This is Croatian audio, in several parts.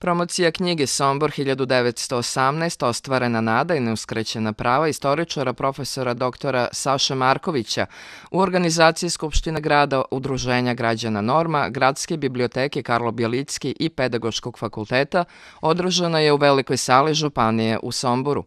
Promocija knjige Sombor 1918. ostvarena nada i neuskraćena prava istoričara profesora doktora Saše Markovića u organizaciji Skupštine grada, Udruženja građana Norma, Gradske biblioteke Karlo Bjelicki i Pedagoškog fakulteta održana je u Velikoj sali Županije u Somboru.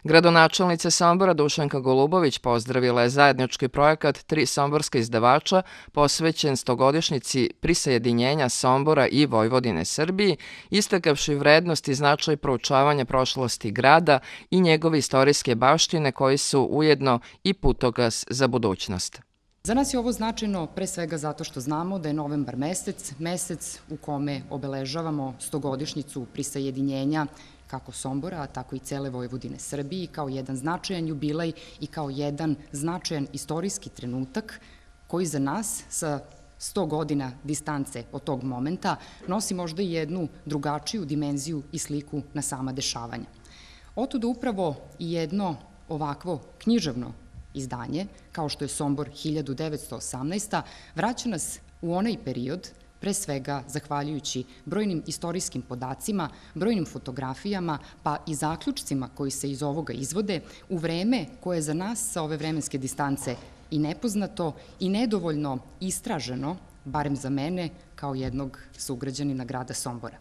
Gradonačelnica Sombora Dušanka Golubović pozdravila je zajednički projekat 3 somborska izdavača posvećen 100-godišnjici prisajedinjenja Sombora i Vojvodine Srbiji, istakavši vrednost i značaj proučavanja prošlosti grada i njegove istorijske baštine koji su ujedno i putokaz za budućnost. Za nas je ovo značajno pre svega zato što znamo da je novembar mesec u kome obeležavamo 100-godišnjicu prisajedinjenja kako Sombora, tako i cele Vojvodine Srbiji, kao jedan značajan jubilej i kao jedan značajan istorijski trenutak koji za nas sa 100 godina distance od tog momenta nosi možda i jednu drugačiju dimenziju i sliku na sama dešavanja. Otuda upravo i jedno ovakvo književno izdanje, kao što je Sombor 1918. vraća nas u onaj period, pre svega zahvaljujući brojnim istorijskim podacima, brojnim fotografijama, pa i zaključcima koji se iz ovoga izvode u vreme koje je za nas sa ove vremenske distance i nepoznato i nedovoljno istraženo, barem za mene kao jednog sugrađanina grada Sombora.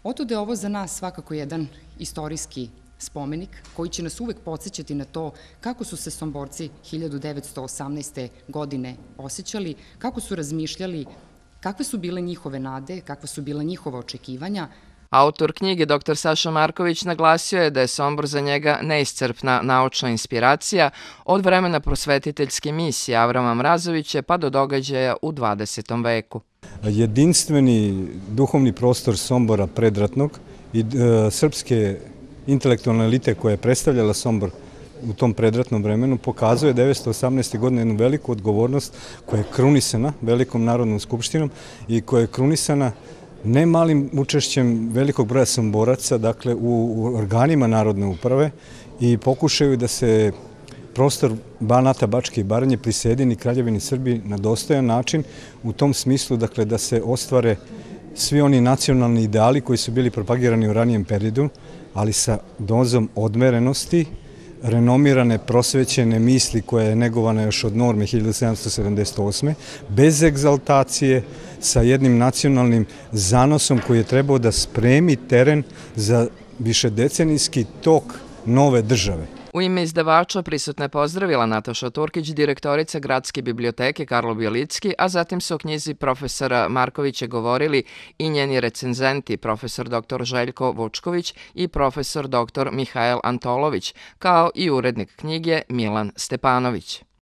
Otuda je ovo za nas svakako jedan istorijski spomenik koji će nas uvek podsjećati na to kako su se Somborci 1918. godine osjećali, kako su razmišljali, kakve su bile njihove nade, kakva su bila njihova očekivanja. Autor knjige dr. Saša Marković naglasio je da je Sombor za njega neiscrpna naučna inspiracija od vremena prosvetiteljske misije Avrama Mrazovića pa do događaja u 20. veku. Jedinstveni duhovni prostor Sombora predratnog i srpske intelektualne elite koja je predstavljala Sombor u tom predratnom vremenu pokazuje 1918. godine jednu veliku odgovornost koja je krunisana Velikom narodnom skupštinom i koja je krunisana ne malim učešćem velikog broja Somboraca, dakle u organima narodne uprave i pokušaju da se prostor Banata, Bačke i Baranje prisjedini Kraljevini Srbiji na dostojan način u tom smislu, dakle da se ostvare svi oni nacionalni ideali koji su bili propagirani u ranijem periodu, ali sa dozom odmerenosti, renomirane, prosvećene misli koja je negovana još od norme 1778. bez egzaltacije, sa jednim nacionalnim zanosom koji je trebao da spremi teren za višedecenijski tok nove države. U ime izdavača prisutna je pozdravila Nataša Turkić, direktorica Gradske biblioteke Karlo Bjelicki, a zatim su o knjizi profesora Markovića govorili i njeni recenzenti, profesor dr. Željko Vučković i profesor dr. Mihajl Antolović, kao i urednik knjige Milan Stepanović.